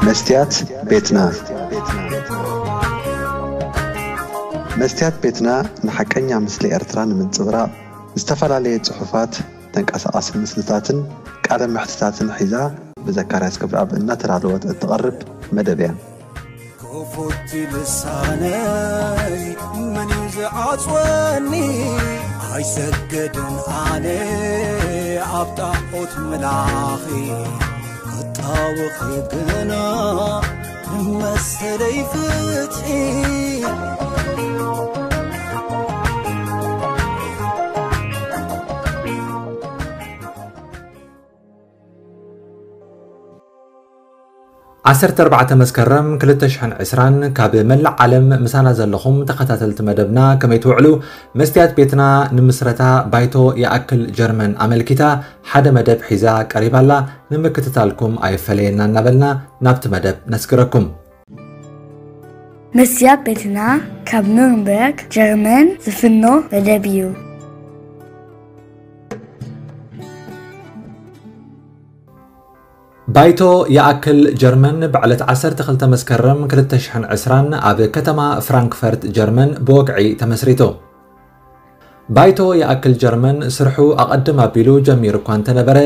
መስትያት ቤትና። መስትያት ቤትና ንሓቀኛ ምስሊ ኤርትራ ንምንጽብራቕ ዝተፈላለየ ጽሑፋት፣ ተንቀሳቓሲ ምስልታትን ቃለ መሕትታትን ሒዛ ብዘካርያስ ክብረኣብ እናተዳለወት እትቐርብ መደብ እያ። ክፉት ልሳነይ መን እዩ ዝዓጽወኒ? ኣይሰገድን ኣነ ኣብ ጣዖት ምላኺ፣ ክጣወኺ ግና ንመሰለይ ፍትሒ። ዓሰርተ ኣርባዕተ መስከረም ክልተ ሽሕን ዕስራን ካብ መላእ ዓለም ምሳና ዘለኹም ተኸታተልቲ መደብና ከመይ ትውዕሉ? መስትያት ቤትና ንምስረታ ባይቶ ይኣክል ጀርመን ኣመልኪታ ሓደ መደብ ሒዛ ቀሪባላ። ንምክትታልኩም ኣይፈለየና እናበልና ናብቲ መደብ ነስግረኩም። መስትያት ቤትና ካብ ኑርንበርግ ጀርመን ዝፍኖ መደብ እዩ። ባይቶ ይኣክል ጀርመን ብዕለት ዓሰርተ ክልተ መስከረም ክልተ ሽሕን ዕስራን ኣብ ከተማ ፍራንክፈርት ጀርመን ብወግዒ ተመስሪቱ። ባይቶ ይኣክል ጀርመን ስርሑ ኣቐድም ኣቢሉ ጀሚሩ እኳ እንተነበረ፣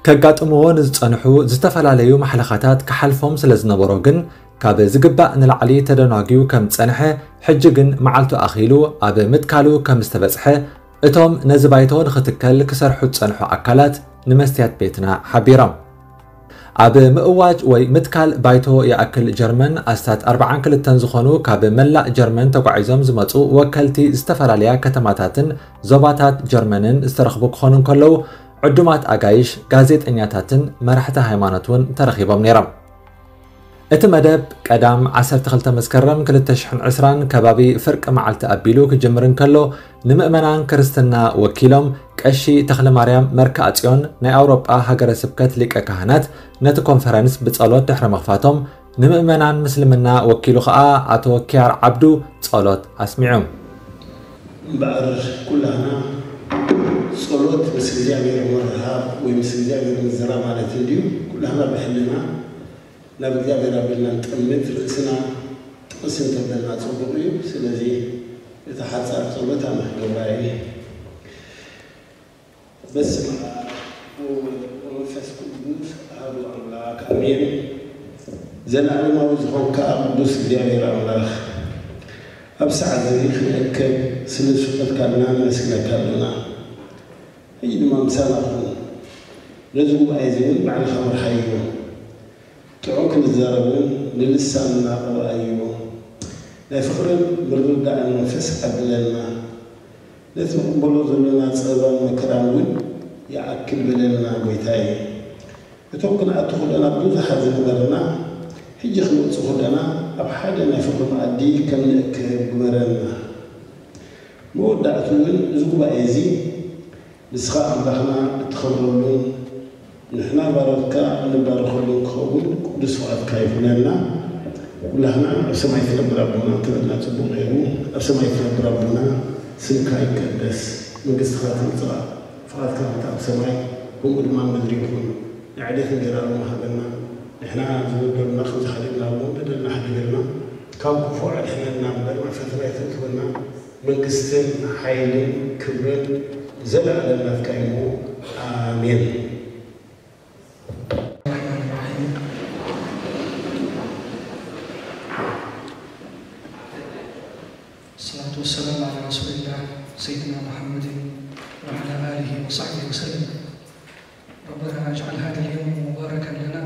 ከጋጥምዎ ንዝጸንሑ ዝተፈላለዩ ማሕለኻታት ክሓልፎም ስለ ዝነበሮ ግን፣ ካብ ዝግባእ ንላዕሊ ተደናጉዩ ከም ዝጸንሐ፣ ሕጂ ግን መዓልቱ ኣኺሉ ኣብ ምትካሉ ከም ዝተበጽሐ፣ እቶም ነዚ ባይቶ ንኽትከል ክሰርሑ ዝጸንሑ ኣካላት ንመስትያት ቤትና ሓቢሮም። ኣብ ምእዋጅ ወይ ምትካል ባይቶ ይኣክል ጀርመን ኣስታት ኣርብዓን ክልተን ዝኾኑ ካብ መላእ ጀርመን ተጓዒዞም ዝመጹ ወከልቲ ዝተፈላለያ ከተማታትን ዞባታት ጀርመንን ዝተረኽቡ ክኾኑ እንከለዉ፣ ዕዱማት ኣጋይሽ፣ ጋዜጠኛታትን መራሕቲ ሃይማኖት እውን ተረኺቦም ነይሮም። እቲ መደብ ቀዳም ዓሰርተ ክልተ መስከረም ክልተ ሽሕን ዕስራን ከባቢ ፍርቂ መዓልቲ ኣቢሉ ክጅምር እንከሎ፣ ንምእመናን ክርስትና ወኪሎም ቀሺ ተኽለማርያም መርክኣጽዮን ናይ ኣውሮጳ ሃገረ ስብከት ሊቀ ካህናት ነቲ ኮንፈረንስ ብጸሎት ድሕሪ ምኽፋቶም፣ ንምእመናን ምስልምና ወኪሉ ኸኣ ኣቶ ኪያር ዓብዱ ጸሎት ኣስሚዑ። እምበኣር ኩላህና ጸሎት ምስ እግዚኣብሔር ምርኻብ ወይ ምስ እግዚኣብሔር ምዝራብ ማለት እንድዩ። ኩላህና ብሕልና ናብ እግዚኣብሔር ኣቢልና ንጠምት፣ ርእስና ጥቕስ እንተበልና ጽቡቕ እዩ። ስለዚ እታ ሓጻር ጸሎት ኣነ ክገብራ እየ። በስመ ኣብ ወወልድ ወመንፈስ ቅዱስ ኣሐዱ ኣምላክ ኣሜን። ዘለዓለማዊ ዝኾንካ ቅዱስ እግዚኣብሔር ኣምላኽ፣ ኣብ ሰዓት እዚ ክንእከብ ስለ ዝፈቐድካልና ነመስግነካ ኣለና። ሕጂ ድማ ምሳና ኩን። ነዚ ጉባኤ እዚ እውን ባዕልኻ ምርሓዮ። ጥዑም ክንዛረብ እውን ንልሳንና ቅብኣዮ። ናይ ፍቕርን ምርድዳእን መንፈስ ዓድለልና። ነቲ ንቕበሎ ዘሎና ጸበባን መከራን እውን ይኣክል በለልና ጎይታየ። እቶም ክንኣቱ ከለና ብዙሓት ዝነበርና፣ ሕጂ ክንወጽእ ከለና ኣብ ሓደ ናይ ፍቕሪ መኣዲ ከም ንእከብ ግበረና። መወዳእቱ እውን እዚ ጉባኤ እዚ ንስኻ ኣምላኽና እትኸብረሉን ንሕና ባሮትካ እንባረኸሉን ክኸውን ቅዱስ ፍቓድካ ይኹነልና። ኩላህና ኣብ ሰማይ ትነብር ኣቦና እንተበልና ጽቡቕ ነይሩ። ኣብ ሰማይ ትነብር ኣቦና፣ ስምካ ይቀደስ፣ መንግስትኻ ትምጻእ፣ ፍቓድካ ትምጻእ ኣብ ሰማይ ከምኡ ድማ ኣብ ምድሪ ይኹን። ናይ ዕለት እንጀራ ሎሚ ሃበና። ንሕና ዝበደሉና ከም ዝሓደግና እውን በደልና ሓድገልና። ካብ ክፉእ ኣድሕነና እምበር ናብ ፈተና ኣይተእትወና። መንግስትን ሓይልን ክብርን ንዘለኣለም ናትካ እዩ። ኣሜን። الرحمن الرحيم. الصلاة والسلام على رسول الله سيدنا محمد وعلى آله وصحبه وسلم. ربنا اجعل هذا اليوم مباركا لنا،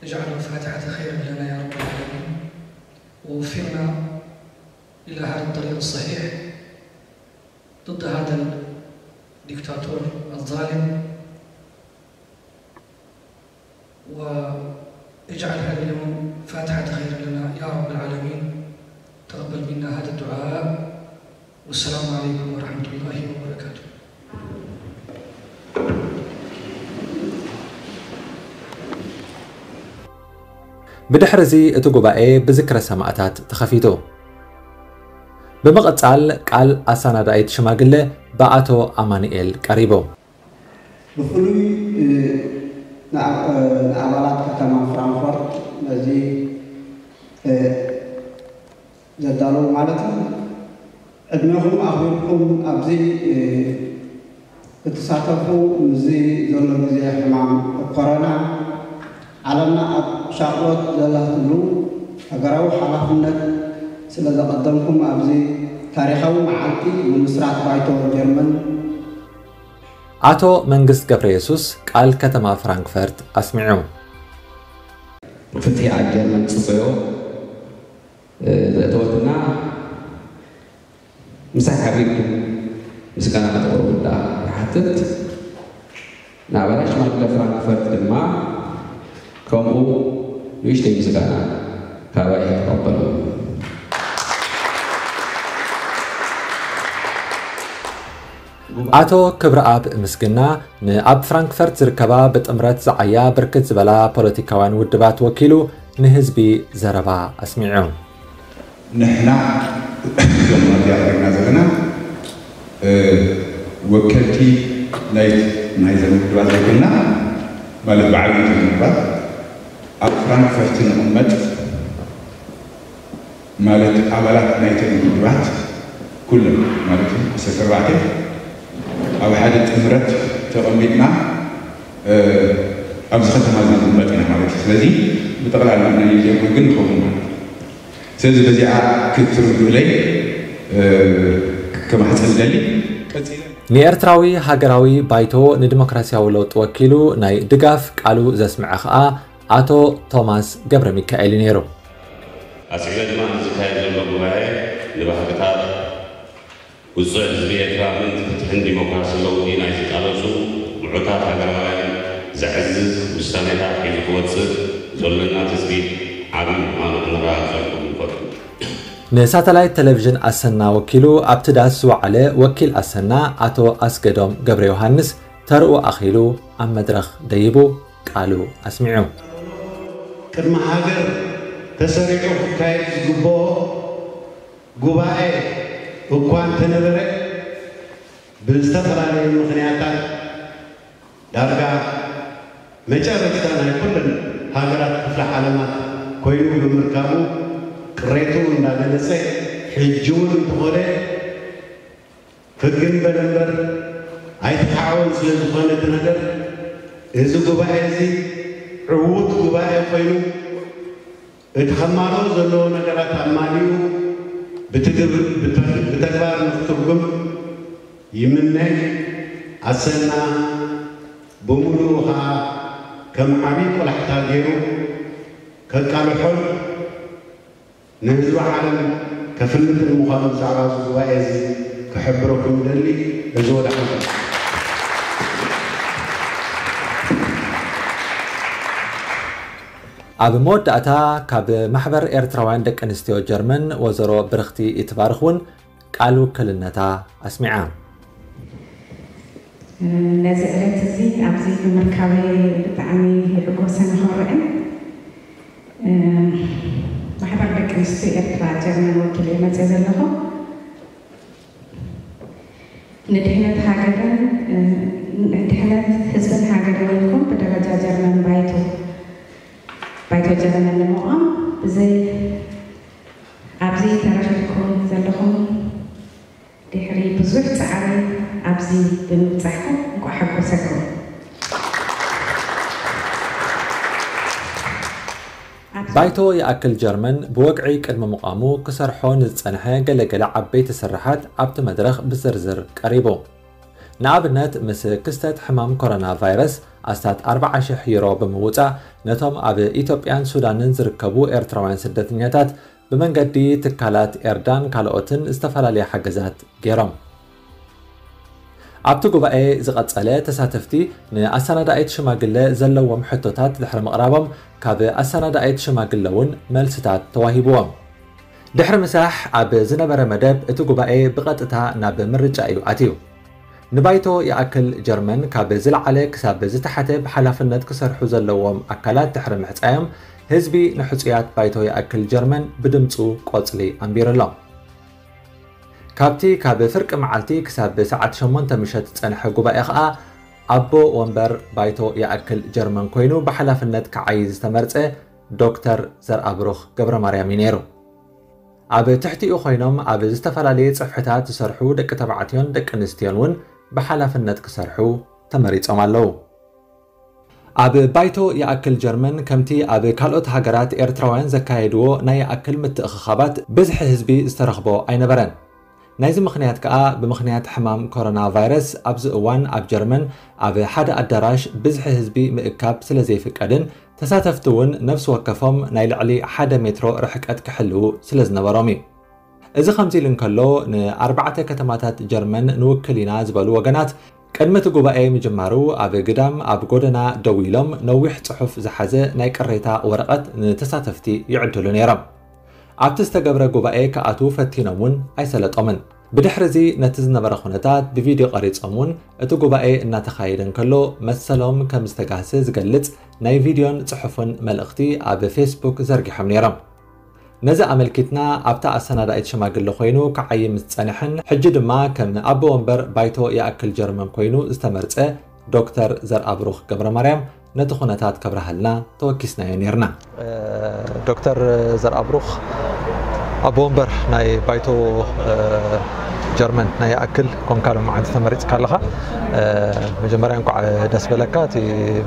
اجعله فاتحة خير لنا يا رب العالمين، ووفقنا إلى هذا الطريق الصحيح ضد هذا الدكتاتور الظالم، واجعل هذا اليوم فاتحة خير لنا يا رب العالمين. تقبل منا هذا الدعاء، والسلام عليكم ورحمة الله وبركاته. ብድሕሪ እዚ እቲ ጉባኤ ብዝክረ ሰማእታት ተኸፊቱ። ብምቕጻል ቃል ኣሰናዳኢት ሽማግለ ብኣቶ ኣማኑኤል ቀሪቡ። ብፍሉይ ንኣባላት ከተማ ፍራንክፈርት ነዚ ዘዳለዉ ማለት እዩ። ዕድሜኹም ኣኽቢርኩም ኣብዚ ክትሳተፉ፣ ምስዚ ዘሎ ግዜ ሕማም ኮሮና ዓለምና ኣብ ሻቕሎት ዘላትሉ ሃገራዊ ሓላፍነት ስለ ዘቐደምኩም፣ ኣብዚ ታሪኻዊ መዓልቲ ምምስራት ባይቶ ጀርመን ኣቶ መንግስት ገብረየሱስ ቃል ከተማ ፍራንክፈርት ኣስሚዑ። ፍትሒ ኣብ ጀርመን ጽበዮ ዘእተወትና ምሳይ ሓቢርኩም ምስጋና ከተቕርቡ ደኣ ይሓትት። ንኣባላት ሽማግለ ፍራንክፈርት ድማ ከምኡ ንእሽተይ ምስጋና ካባይ ተቐበሉ። ኣቶ ክብረኣብ ምስግና ንኣብ ፍራንክፈርት ዝርከባ ብጥምረት ዝዓያ ብርክት ዝበላ ፖለቲካውያን ውድባት ወኪሉ ንህዝቢ ዘረባ ኣስሚዑ። ንሕና እዞም ኣብዚኣ ኮይና ዘለና ወከልቲ ናይ ናይዘን ውድባት ዘይኮና ማለት ብዓብዩ ውድባት ኣብ ፍራንክፈርት ንቕመጥ ማለት ኣባላት ናይተን ውድባት ኩለን ማለት ዓሰርተ ኣርባዕተ ኣብ ሓደ ጥምረት ተቐሚጥና ኣብዚ ከተማ እዚ ንቕመጥ ኢና ማለት እዩ። ስለዚ ብጠቕላላ ናይ ጀርመን ግን ንኸውን ማለት እዩ። ስለዚ በዚኣ ክትርድኡለይ ከማሕፀን ደሊ ቀፂለ ንኤርትራዊ ሃገራዊ ባይቶ ንዲሞክራሲያዊ ለውጢ ወኪሉ ናይ ድጋፍ ቃሉ ዘስምዐ ከኣ ኣቶ ቶማስ ገብረ ሚካኤል እዩ ነይሩ። ኣስዒበ ድማ ንዝካየድ ዘሎ ጉባኤ ንባህግታት ውጹዕ ህዝቢ ኤርትራ ምእንቲ ፍትሕን ዲሞክራስን ለውጢ ናይ ዝቃለሱ ምዑታት ሃገራውያን ዘዕዝዝ ውሳኔታት ሒዙ ክወጽእ ዘሎና ትጽቢት ዓቢ ምዃኑ ከነረጋግጸልኩም ንፈቱ። ንሳተላይት ቴሌቪዥን ኣሰና ወኪሉ ኣብቲ ዳስ ዝወዓለ ወኪል ኣሰና ኣቶ ኣስገዶም ገብረ ዮሃንስ ተርኡ ኣኺሉ ኣብ መድረኽ ደይቡ ቃሉ ኣስሚዑ። ቅድሚ ሃገር ተሰሪዑ ክካየድ ዝግብኦ ጉባኤ እኳ እንተነበረ ብዝተፈላለዩ ምኽንያታት ዳርጋ መጨረሽታ ናይ ኩለን ሃገራት ክፍለ ዓለማት ኮይኑ ብምርካቡ ቅሬትኡ እንዳገለጸ ሕጂ እውን እንተኾነ ሕግን በል እምበር ኣይተሓወን ስለ ዝኾነ እቲ ነገር እዚ ጉባኤ እዚ ዕዉት ጉባኤ ኮይኑ እቲ ከማልኦ ዘለዎ ነገራት ኣማሊኡ ብተግባር ንክትርጉም ይምነ። ኣሰና ብምሉኡ ከዓ ከም ዓብዪ ቆላሕታ ገይሩ ከቃልሖን ንህዝቢ ዓለም ከፍልጥን ምዃኑ ብዛዕባ እዚ ጉባኤ እዚ ክሕብረኩም ይደሊ። እዚ ወዳሕንኩም። ኣብ መወዳእታ ካብ ማሕበር ኤርትራውያን ደቂ ኣንስትዮ ጀርመን ወዘሮ ብርኽቲ ይትባርኽ እውን ቃል ውክልነታ ኣስሚዓ። ነዚ ዕለት እዚ ኣብዚ ብምርካበይ ብጣዕሚ ይሕጎሰን እኾርዕን። ማሕበር ደቂ ኣንስትዮ ኤርትራ ጀርመን ወኪለ እየ መፅየ ዘለኹ። ንድሕነት ሃገርን ንድሕነት ህዝብን ሃገርን ኢልኩም ብደረጃ ጀርመን ባይቶ ባይቶ ጀርመን ንምቋም ብዘይ ኣብዚ ተረኺብኩም ዘለኹም ድሕሪ ብዙሕ ፃዕሪ ኣብዚ ብምብፃሕኩም እንኳዕ ሓጎሰኩም። ባይቶ ይኣክል ጀርመን ብወግዒ ቅድሚ ምቋሙ ክሰርሖ ንዝጸንሐ ገለ ገለ ዓበይቲ ስርሓት ኣብቲ መድረኽ ብዝርዝር ቀሪቡ። ንኣብነት ምስ ክስተት ሕማም ኮሮና ቫይረስ ኣስታት ኣርብዓ ሽሕ ዩሮ ብምውጻእ ነቶም ኣብ ኢትዮጵያን ሱዳንን ዝርከቡ ኤርትራውያን ስደተኛታት ብመንገዲ ትካላት ኤርዳን ካልኦትን ዝተፈላለየ ሓገዛት ገይሮም። ኣብቲ ጉባኤ ዝቐጸለ ተሳተፍቲ ንኣሰናዳኢት ሽማግለ ዘለዎም ሕቶታት ድሕሪ ምቕራቦም ካብ ኣሰናዳኢት ሽማግለ እውን መልስታት ተዋሂብዎም። ድሕሪ ምሳሕ ኣብ ዝነበረ መደብ እቲ ጉባኤ ብቐጥታ ናብ ምርጫ እዩ ኣትዩ። ንባይቶ ይኣክል ጀርመን ካብ ዝለዓለ ክሳብ ዝተሓተ ብሓላፍነት ክሰርሑ ዘለዎም ኣካላት ድሕሪ ምሕጻዮም ህዝቢ ንሕጹያት ባይቶ ይኣክል ጀርመን ብድምጹ ቆጽሊ ኣንቢሩሎም። ካብቲ ካብ ፍርቂ መዓልቲ ክሳብ ሰዓት ሸሞንተ ምሸት ዝጸንሐ ጉባኤ ከኣ ኣቦ ወንበር ባይቶ ይኣክል ጀርመን ኮይኑ ብሓላፍነት ክዓዪ ዝተመርጸ ዶክተር ዘርኣብሩኽ ገብረ ማርያም እዩ ነይሩ። ኣብ ትሕቲኡ ኮይኖም ኣብ ዝተፈላለየ ጽፍሕታት ዝሰርሑ ደቂ ተባዕትዮን ደቂ ኣንስትዮን እውን ብሓላፍነት ክሰርሑ ተመሪጾም ኣለዉ። ኣብ ባይቶ ይኣክል ጀርመን ከምቲ ኣብ ካልኦት ሃገራት ኤርትራውያን ዘካየድዎ ናይ ይኣክል ምትእኽኻባት ብዝሒ ህዝቢ ዝተረኽቦ ኣይነበረን። ናይዚ ምኽንያት ከኣ ብምኽንያት ሕማም ኮሮና ቫይረስ ኣብዚ እዋን ኣብ ጀርመን ኣብ ሓደ ኣዳራሽ ብዝሒ ህዝቢ ምእካብ ስለ ዘይፍቀድን ተሳተፍቲ እውን ነፍሲ ወከፎም ናይ ልዕሊ ሓደ ሜትሮ ርሕቀት ክሕልዉ ስለ ዝነበሮም እዩ። እዚ ከምዚ ኢሉ እንከሎ ንኣርባዕተ ከተማታት ጀርመን ንውክል ኢና ዝበሉ ወገናት ቅድሚ እቲ ጉባኤ ምጅማሩ ኣብ ግዳም ኣብ ጎደና ደው ኢሎም ነዊሕ ጽሑፍ ዝሓዘ ናይ ቅሬታ ወረቐት ንተሳተፍቲ ይዕድሉ ነይሮም። ኣብቲ ዝተገብረ ጉባኤ ክኣትዉ ፈቲኖም እውን ኣይሰለጦምን። ብድሕሪ እዚ ነቲ ዝነበረ ኩነታት ብቪድዮ ቀሪጾም እውን እቲ ጉባኤ እናተኻየደ እንከሎ መሰሎም ከም ዝተጋህሰ ዝገልጽ ናይ ቪድዮን ጽሑፍን መልእኽቲ ኣብ ፌስቡክ ዘርጊሖም ነይሮም። ነዚ ኣመልኪትና ኣብታ ኣሰናዳኢት ሽማግለ ኮይኑ ክዓይም ዝጸንሐን ሕጂ ድማ ከም ኣቦ ወንበር ባይቶ ይኣክል ጀርመን ኮይኑ ዝተመርጸ ዶክተር ዘርኣብሩኽ ገብረ ማርያም ነቲ ኩነታት ከብርሃልና ተወኪስናዮ ነይርና። ዶክተር ዘርኣብሩኽ ኣቦ ወንበር ናይ ባይቶ ጀርመን ናይ ይኣክል ኮንካ ሎመዓንቲ ተመሪጽካ ኣለኻ። መጀመርያ እንኳዕ ደስ በለካ። እቲ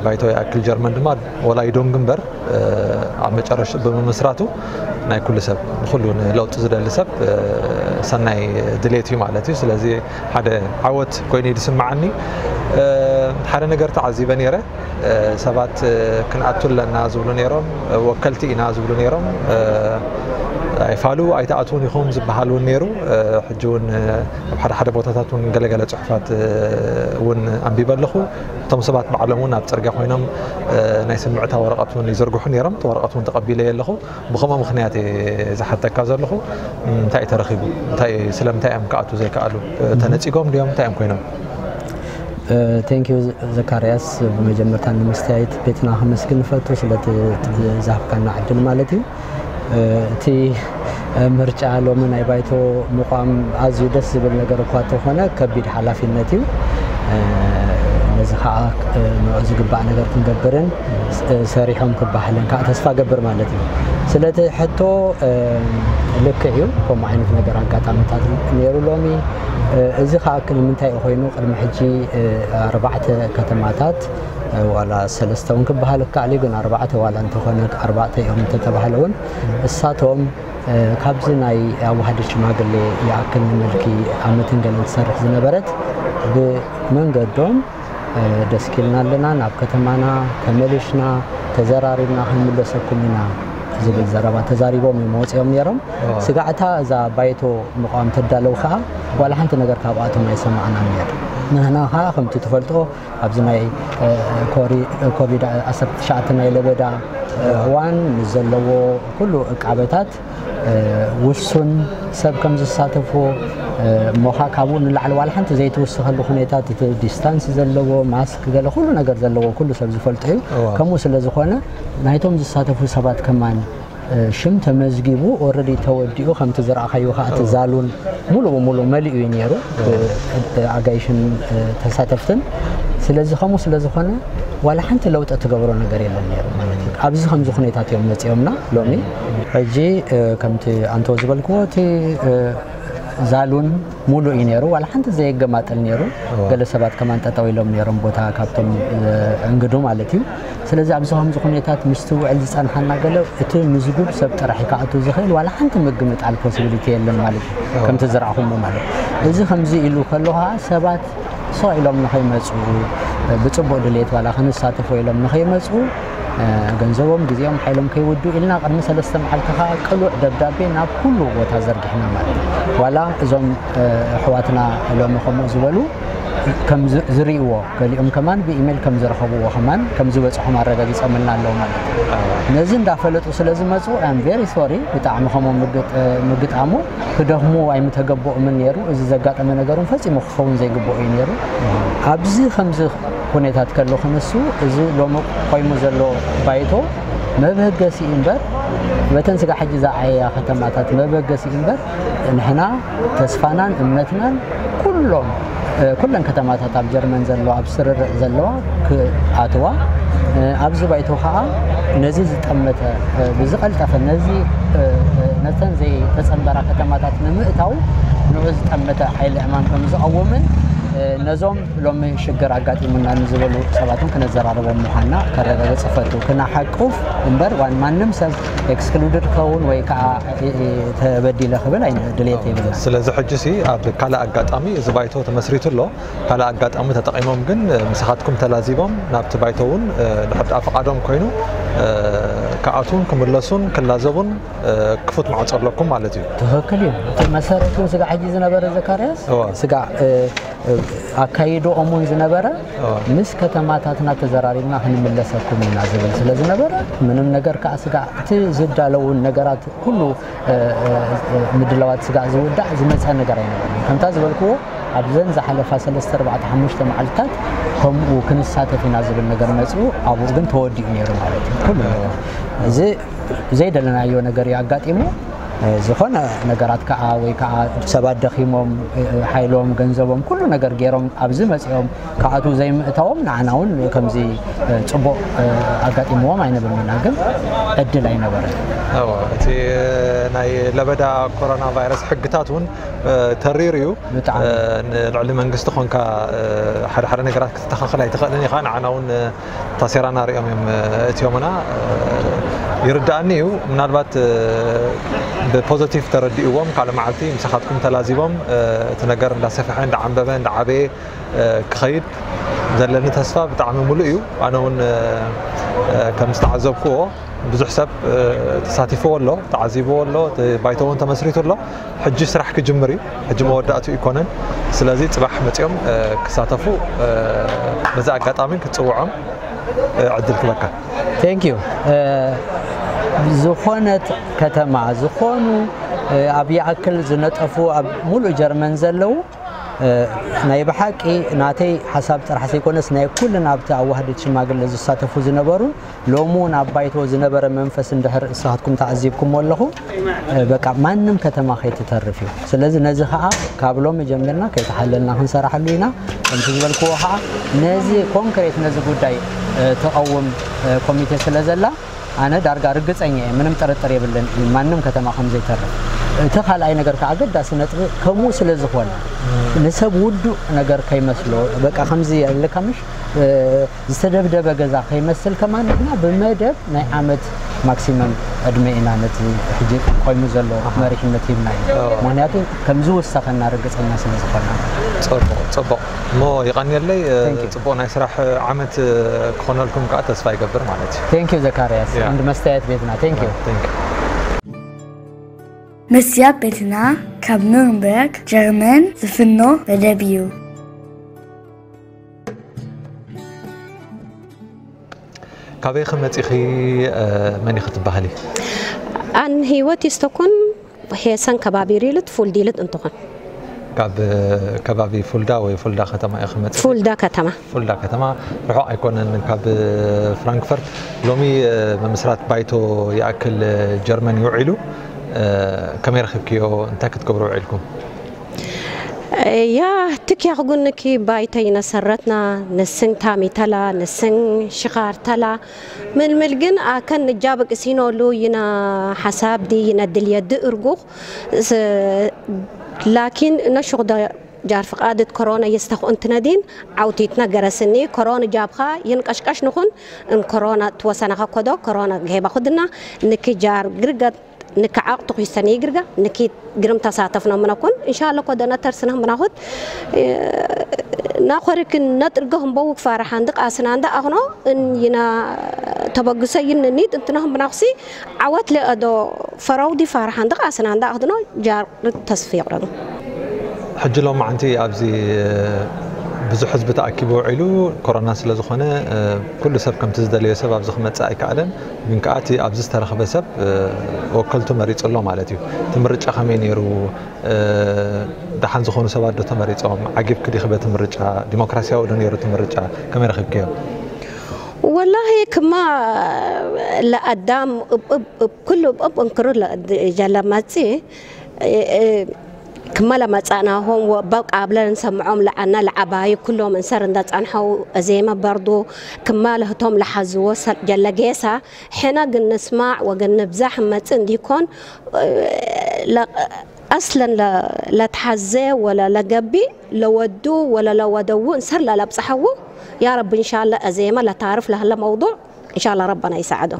ባይቶ ይኣክል ጀርመን ድማ ወላ ይዶንግ እምበር ኣብ መጨረሽ ብምምስራቱ ናይ ኩሉ ሰብ ንኩሉ ንለውጢ ዝደሊ ሰብ ሰናይ ድሌት እዩ ማለት እዩ። ስለዚ ሓደ ዓወት ኮይኑ እዩ ዝስምዓኒ። ሓደ ነገር ተዓዚበ ነይረ። ሰባት ክንኣቱ ኣለና ዝብሉ ነይሮም፣ ወከልቲ ኢና ዝብሉ ነይሮም። ኣይፋሉ ኣይትኣትውን ኢኹም ዝበሃል እውን ነይሩ። ሕጂ እውን ኣብ ሓደ ሓደ ቦታታት እውን ገለገለ ጽሑፋት እውን ኣንቢበ ኣለኹ። እቶም ሰባት ባዕሎም እውን ኣብ ጽርግያ ኮይኖም ናይ ስምዕታ ወረቐት እውን ይዝርግሑ ነይሮም። እቲ ወረቐት እውን ተቐቢለዮ ኣለኹ። ብኸምኡ ምኽንያት እየ ዝሓተካ ዘለኹ። እንታይ እዩ ተረኺቡ? እንታይ፣ ስለምንታይ እዮም ክኣቱ ዘይከኣሉ? ተነጺጎም ድዮም? እንታይ እዮም ኮይኖም? ቴንኪዩ ዘካርያስ፣ ብመጀመርታ ንምስትያይት ቤትና ከመስግን ንፈቱ ስለቲ ዝሃብካና ዕድል ማለት እዩ። እቲ ምርጫ ሎሚ ናይ ባይቶ ምቋም ኣዝዩ ደስ ዝብል ነገር እኳ እንተኾነ ከቢድ ሓላፊነት እዩ። ነዚ ከዓ ንዑ ዝግባእ ነገር ክንገብርን ሰሪሖም ክበሃልን ከዓ ተስፋ ገብር ማለት እዩ። ስለቲ ሕቶ ልክዕ እዩ፣ ከምኡ ዓይነት ነገር ኣጋጣሚታት ነይሩ ሎሚ። እዚ ከዓ ንምንታይ እዩ ኮይኑ ቅድሚ ሕጂ ኣርባዕተ ከተማታት ዋላ ሰለስተ እውን ክበሃል ይከኣል እዩ፣ ግን ኣርባዕተ ዋላ እንተኾነ ኣርባዕተ እዮም እንተተባህለ እውን እሳቶም ካብዚ ናይ ኣዋህድት ሽማግሌ ይኣክል ንመልኪ ዓመትን ገለን ትሰርሕ ዝነበረት ብመንገዶም ደስኪልና ኣለና፣ ናብ ከተማና ተመሊሽና ተዘራሪብና ክንምለሰኩም ኢና ዝብል ዘረባ ተዛሪቦም እዮም ወፂኦም ነይሮም። ስጋዕታ እዛ ባይቶ ምቋም ተዳለው ከዓ ዋላ ሓንቲ ነገር ካብኣቶም ኣይሰማዕናን ነይሩ። ንሕና ከዓ ከምቲ ትፈልጦ ኣብዚ ናይ ኮቪድ ዓሰርተ ትሽዓተ ናይ ለበዳ እዋን ምስ ዘለዎ ኩሉ ዕቃበታት ውሱን ሰብ ከም ዝሳተፎ እሞ ኸዓ ካብኡ ንላዕሊ ዋላ ሓንቲ ዘይትውስኸሉ ኩነታት እቲ ዲስታንስ ዘለዎ ማስክ ገለ ኩሉ ነገር ዘለዎ ኩሉ ሰብ ዝፈልጦ እዩ። ከምኡ ስለ ዝኾነ ናይቶም ዝሳተፉ ሰባት ከማን ሽም ተመዝጊቡ ኦረዲ ተወዲኡ ከምቲ ዝረኣኻዮ ከዓ እቲ ዛሉን ሙሉ ብሙሉ መሊኡ እዩ ነይሩ ኣጋይሽን ተሳተፍትን። ስለዚ ከምኡ ስለ ዝኾነ ዋላ ሓንቲ ለውጢ ትገብሮ ነገር የለን ነይሩ ማለት እዩ። ኣብዚ ከምዚ ኩነታት እዮም መፂኦምና ሎሚ። ሕጂ ከምቲ ኣንቶ ዝበልክዎ እቲ ዛሉን ሙሉእ እዩ ነይሩ፣ ዋላ ሓንቲ ዘየገማጥል ነይሩ። ገለ ሰባት ከማን ጠጠው ኢሎም ነይሮም ቦታ ካብቶም እንግዱ ማለት እዩ። ስለዚ ኣብዚ ከምዚ ኩነታት ምስትውዕል ዝፀንሓና ገለ እቲ ምዝጉብ ሰብ ጥራሕ ክኣቱ ዝኽእል ዋላ ሓንቲ ምግምጣል ፖሲቢሊቲ የለን ማለት እዩ። ከምቲ ዝረኣኹሞ ማለት እዚ ከምዚ ኢሉ ከሎ ከዓ ሰባት ስቕ ኢሎም ንኸይመፁ ብፅቡቅ ድሌት ዋላ ክንሳተፎ ኢሎም ንኸይመፁ ገንዘቦም ግዜኦም ሓይሎም ከይውዱ ኢልና ቅድሚ ሰለስተ መዓልቲ ከዓ ቅሉዕ ደብዳቤ ናብ ኩሉ ቦታ ዘርጊሕና ማለት እዩ። ዋላ እዞም ኣሕዋትና ሎሚ ከምኡ ዝበሉ ከም ዝርእይዎ ገሊኦም ከማን ብኢሜል ከም ዝረኸብዎ ከማን ከም ዝበፅሖም ኣረጋጊፆምልና ኣለዉ ማለት እዩ። ነዚ እንዳፈለጡ ስለ ዝመፁ ኣም ቬሪ ሶሪ ብጣዕሚ ከምኡ ምግጣሙ ክደኽሙ ኣይምተገበኦምን ነይሩ። እዚ ዘጋጠመ ነገር እውን ፈፂሙ ክኸውን ዘይግበኦ እዩ ነይሩ። ኣብዚ ከምዚ ኩነታት ከሎ ክንሱ እዚ ሎሚ ቆይሙ ዘሎ ባይቶ መበገሲ እዩ እምበር በተን ስጋ ሕጂ ዝዓየያ ከተማታት መበገሲ እዩ እምበር ንሕና ተስፋናን እምነትናን ኩሎም ኩለን ከተማታት ኣብ ጀርመን ዘለዋ ኣብ ስርርዕ ዘለዋ ክኣትዋ ኣብዚ ባይቶ ከዓ ነዚ ዝጠመተ ብዝቐልጠፈ ነዚ ነተን ዘይተፀንበራ ከተማታት ንምእታው ንዑ ዝጠመተ ሓይሊ ዕማም ከም ዝቐውምን ነዞም ሎሚ ሽግር ኣጋጢሙና ንዝበሉ ሰባትን ክነዘራርቦም ምዃንና ከረጋግፅ እፈቱ። ክነሓቁፍ እምበር ዋን ማንም ሰብ ኤክስክሉድድ ክኸውን ወይ ከዓ ተበዲለ ክብል ኣይነ ድሌት የብልና። ስለዚ ሕጂ ሲ ኣብ ካልእ ኣጋጣሚ እዚ ባይቶ ተመስሪቱ ኣሎ። ካልእ ኣጋጣሚ ተጠቒሞም ግን ምሳኻትኩም ተላዚቦም ናብቲ ባይቶ እውን ድሕር ደኣ ፍቓዶም ኮይኑ ክኣትዉን ክምለሱን ክላዘቡን ክፉት ማዕጾ ኣለኩም ማለት እዩ። ትኽክል እዩ። እቲ መሰረቱ ስጋዕ ሕጂ ዝነበረ ዘካርያስ እዋ። ስጋዕ ኣካይድኦም እውን ዝነበረ ምስ ከተማታትና ተዘራሪብና ክንምለሰኩም ኢና ዝብል ስለ ዝነበረ ምንም ነገር ከዓ ስጋዕ እቲ ዝዳለውን ነገራት ኩሉ ምድላዋት ስጋዕ ዝውዳእ ዝመፀ ነገር ኣይነበረን። ከምታ ዝበልክዎ ኣብዘን ዝሓለፋ ሰለስተ ኣርባዕተ ሓሙሽተ መዓልትታት ከምኡ ክንሳተፍ ኢና ዝብል ነገር መፂኡ ኣብኡ ግን ተወዲኡ ነይሩ ማለት እዩ። ኩሉ ነገር እዚ ዘይደለናዮ ነገር እዩ ኣጋጢሙ። ዝኾነ ነገራት ከዓ ወይ ከዓ ሰባት ደኺሞም ሓይሎም ገንዘቦም ኩሉ ነገር ገይሮም ኣብዚ መፂኦም ክኣትዉ ዘይምእታዎም ንዓና እውን ከምዚ ፅቡቕ ኣጋጢምዎም ኣይንብልን ኢና፣ ግን ዕድል ኣይነበረን። እዎ፣ እቲ ናይ ለበዳ ኮሮና ቫይረስ ሕግታት እውን ተሪር እዩ። ብጣዕሚ። ንልዕሊ መንግስቲ ኮንካ ሓደ ሓደ ነገራት ክተስተኻኽል ኣይትኽእልን ኢኻ። ንዓና እውን ታሴራና ሪኦም እዮም እትዮምና። ይርድኣኒ እዩ። ምናልባት ብፖዘቲቭ ተረዲእዎም ካልእ መዓልቲ ምሳኻትኩም ተላዚቦም እቲ ነገር እንዳሰፍሐ እንዳዓንበበ እንዳዓበየ ክኸይድ ዘለኒ ተስፋ ብጣዕሚ ሙሉእ እዩ። ኣነ እውን ከም ዝተዓዘብክዎ ብዙሕ ሰብ ተሳቲፍዎ ኣሎ፣ ተዓዚብዎ ኣሎ፣ እቲ ባይቶ እውን ተመስሪቱ ኣሎ። ሕጂ ስራሕ ክጅምር እዩ። ሕጂ መወዳእቱ ይኮነን። ስለዚ ፅባሕ መፂኦም ክሳተፉ በዚ ኣጋጣሚ ክፅውዖም ዕድል ክበካ። ቴንክ ዩ። ዝኾነት ከተማ ዝኾኑ ኣብ ይኣክል ዝነጠፉ ኣብ ሙሉእ ጀርመን ዘለዉ ናይ ብሓቂ ናተይ ሓሳብ ጥራሕ ዘይኮነስ ናይ ኩልን ኣብቲ ኣዋህድት ሽማግለ ዝሳተፉ ዝነበሩ ሎሚ እውን ኣብ ባይቶ ዝነበረ መንፈስ እንድሕር እሳትኩም ተዓዚብኩሞ ኣለኹ በቃ ማንም ከተማ ከይትተርፍ እዩ። ስለዚ ነዚ ከዓ ካብ ሎሚ ጀሚርና ከይተሓለልና ክንሰራሐሉ ኢና። ከምቲ ዝበልክዎ ከዓ ነዚ ኮንክሬት ነዚ ጉዳይ ተቐውም ኮሚቴ ስለ ዘላ ኣነ ዳርጋ ርግፀኛ እየ፣ ምንም ጥርጥር የብልን ማንም ከተማ ከም ዘይተርፍ። እቲ ካልኣይ ነገር ከዓ ኣገዳሲ ነጥቢ ከምኡ ስለ ዝኾነ ንሰብ ውዱእ ነገር ከይመስሎ በቃ ከምዚ ኣለካ ምሽ ዝተደብደበ ገዛ ከይመስል ከማን ንሕና ብመደብ ናይ ዓመት ማክሲመም ዕድመ ኢና ነቲ ሕጂ ቆይሙ ዘሎ መሪሕነት ሂብናዮ። ምክንያቱ ከም ዝውሰኸና ርግፀኛ ስለ ዝኾና። ፅቡቕ፣ ፅቡቕ። እሞ የቐንየለይ፣ Thank you። ፅቡቕ ናይ ስራሕ ዓመት ክኾነልኩም ከዓ ተስፋ ይገብር ማለት እዩ። ቴንክ ዩ ዘካርያስ Yeah. እንድ መስተያየት ቤትና። ቴንክ ዩ። Thank you። መስትያት ቤትና ካብ ኑርንበርግ ጀርመን ዝፍኖ መደብ እዩ። ካበይ ከመፂኺ? መን ኢኺ ትበሃሊ? ኣን ህይወት ይስተኩን ሄሰን ከባቢ ሪልት ፉልዲልት እንትኾን ካብ ከባቢ ፉልዳ ወይ ፉልዳ ከተማ ኢኺ መፂኺ? ፉልዳ ከተማ። ፉልዳ ከተማ ርሑቕ ኣይኮነን ካብ ፍራንክፈርት። ሎሚ ምምስራት ባይቶ ይኣክል ጀርመን ይውዒሉ። ከመይ ረኺብክዮ? እንታይ ክትገብሩ ውዒልኩም? ያ ትኪያ ክጉንኪ ባይተይ ነሰረትና ንስን ታሚተላ ንስን ሽኻርተላ ምልምል ግን ኣከን ንጃብቅ ሲኖሉ ይና ሓሳብ ዲ ይነ ድልየ ድእርጉኽ ላኪን ነሹኽደ ጃር ፍቃድት ኮሮና የስተኹ እንትነዲን ዓውቲት ነገረስኒ ኮሮን ጃብኻ ይንቀሽቀሽ ንኹን እንኮሮና ትወሰነኸ ኮዶ ኮሮና ገሄባ ኩድና ንኪ ጃር ግርገት ንኪ ዓቕቱ ኺስተኒ ግርጋ ንኪ ግርም ተሳተፍኖ ምነኩን እንሻለ ኮዶ ነተርስነ ምናኹት ናኾሪክን ነጥርገ ህምበው ክፋርሓ እንዲ ቃስና እንዳ ኣኽኖ እን ይና ተበግሰ ይንኒት እንትነህም ብናኹሲ ዓወት ለአዶ ፈረውዲ ፋርሓ እንዲ ቃስና እንዳ ኣኽድኖ ጃር ተስፊ ይቕረኑ። ሕጂ ሎማዓንቲ ኣብዚ ብዙሕ ህዝቢ ተኣኪቡ ውዒሉ ኮሮና ስለ ዝኾነ ኩሉ ሰብ ከምቲ ዝደለዮ ሰብ ኣብዚ ክመፅእ ኣይከኣለን። ግን ከዓ እቲ ኣብዚ ዝተረኽበ ሰብ ወከልቱ መሪፁ ኣሎ ማለት እዩ። እቲ ምርጫ ከመይ ነይሩ? ደሓን ዝኾኑ ሰባት ዶ ተመሪፆም? ዓጊብኪ ዲኺ በቲ ምርጫ? ዲሞክራሲያዊ ዶ ነይሩ እቲ ምርጫ? ከመይ ረኺብክዮ? ወላሂ ክማ ለኣዳም እብ እብ እብ ኩሉ እብ እብ እንክሩ ጀለመፂ ክመለ መጻእናሆም ወበቃ ብለን ሰምዖም ለዓና ለዓባይ ኩሎም እንሰር እንዳጻንሐው እዜመ በርዱ ክመለ ህቶም ለሓዝዎ ሰ-፣ ጀለጌሳ ሕነ ግን ንስማዕ ወግን ንብዛሕ መጽእ እንዲኮን፣ እ፣ ለ-፣ ኣስለን ለ-፣ ለትሓዘ ወለ ለገቢ ለወዱ ወለ ለወደዉ እንሰር ለለብጽሐዉ ያ ረቢ እንሻላ እዜመ ለታርፍ ለህለ መውዱዕ እንሻላ ረበና ይሰዓዶ።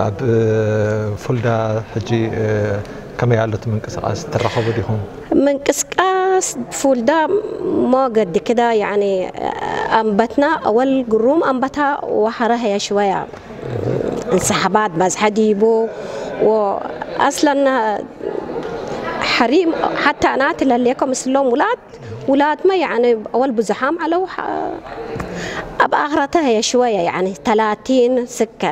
ኣብ ፉልዳ ሕጂ ከመይ ኣሎ እቲ ምንቅስቃስ ትራኸቡ ዲኹም? ምንቅስቃስ ፉልዳ ሞገዲ ክዳ ያኒ ኣንበትና ኣወል ግሩም ኣንበታ ወሐረ ሀያ ሽወያ እንስሓባት በዝሐ ዲቡ ወኣስለና ሐሪም ሓታ ናት ለሌኮ ምስሎም ውላድ ውላድመ ያኒ ኣወል ብዙሓም ዓለው ኣብ ኣኽረተ ሀያ ሽወያ ያኒ ተላቲን ስከ